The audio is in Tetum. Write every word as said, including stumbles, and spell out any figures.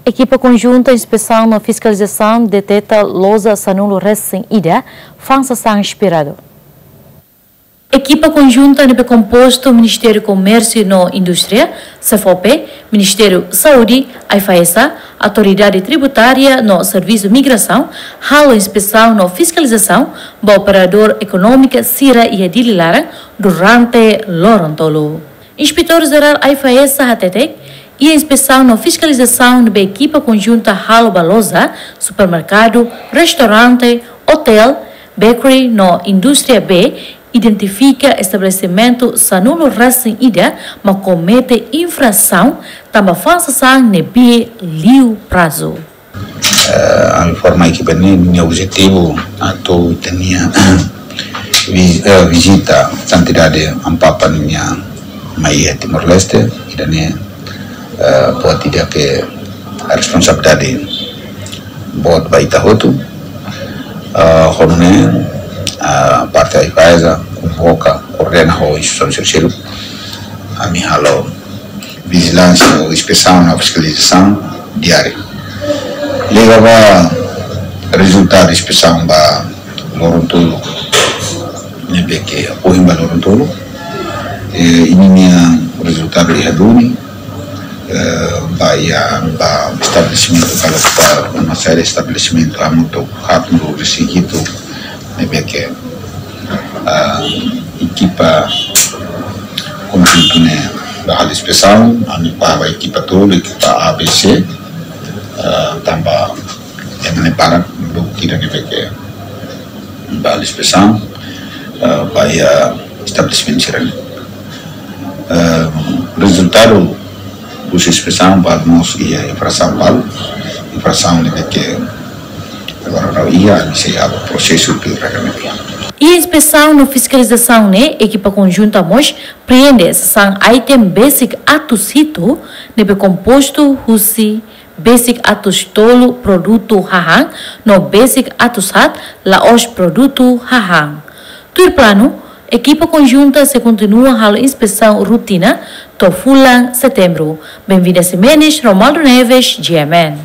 Ekipa konjunta inspesaun no fiskalizasaun deteta loja sanulu resin ida fa'an sasán esperadu. Ekipa konjunta ne'ebé kompostu Ministériu Komérsiu no Indústria, SEFOPE, Ministériu Saúde, AIFAESA, Autoridade Tributária no Servisu Migrasaun halo inspesaun no fiskalizasaun ba operadór ekonómika sira iha Dili laran durante loron tolu. Inspetór Jerál AIFAESA hateten, iha inspesaun no fiskalizasaun ne'ebé ekipa konjunta halo ba loja, supermerkadu, restaurante, otél, bakery no indústria bee, identifika estabelesimentu sanulu resin ida mak komete infrasaun tanba fa'an sasán ne'ebé liu prazu. Eh, ami forma ekipa ne'e, nia objetivu atu ita-nia vi-, eh, vizita Santidade Amu Papa ninia mai iha Timor-Leste, ida-ne'e, eh, buat ida ke responsabilidade boot ba ita hotu. Eh, ho nune'e, eh, parte AIFAESA konvoka, koordena ho instituisaun seluk, ami halo vijilánsia, inspesaun no fiskalizasaun diáriu. Liga ba rezultadu inspesaun ba loron tolu, ne'ebé ke ohin ba loron tolu. Eh, ida-ne'e nia rezultadu iha duni, eh, ba iha, ba estabelesimentu, kalau ba, ba masalah estabelesimentu, hamutuk haatnulu resin hitu, ne'ebé ke, ah, ekipa konjuntu ne'e ba halo inspesaun, ami ba, ba ekipa tolu, ekipa A, B, C, ah, tanba ema ne'e barak, dua kira ne'ebé ke ba halo inspesaun, ah, ba iha estabelesimentu sira-ne'e. Eh, rezultadu husi inspesaun balu mós iha infrasaun balu, infrasaun ne'ebé ke agora la'o iha, ami sei halo prosesu pil rega ne'e. Iha inspesaun no fiskalizasaun ne'e, ekipa konjunta mós apreende sasán item besik atus hitu ne'ebé kompostu husi besik atus tolu produtu hahán no besik atus haat la'ós produtu hahán. Tuir planu, ekipa konjunta sei kontinua halo inspesaun rotina to'o fulan Setembru. Benvinda Ximenes, Romualdo Neves, G M N.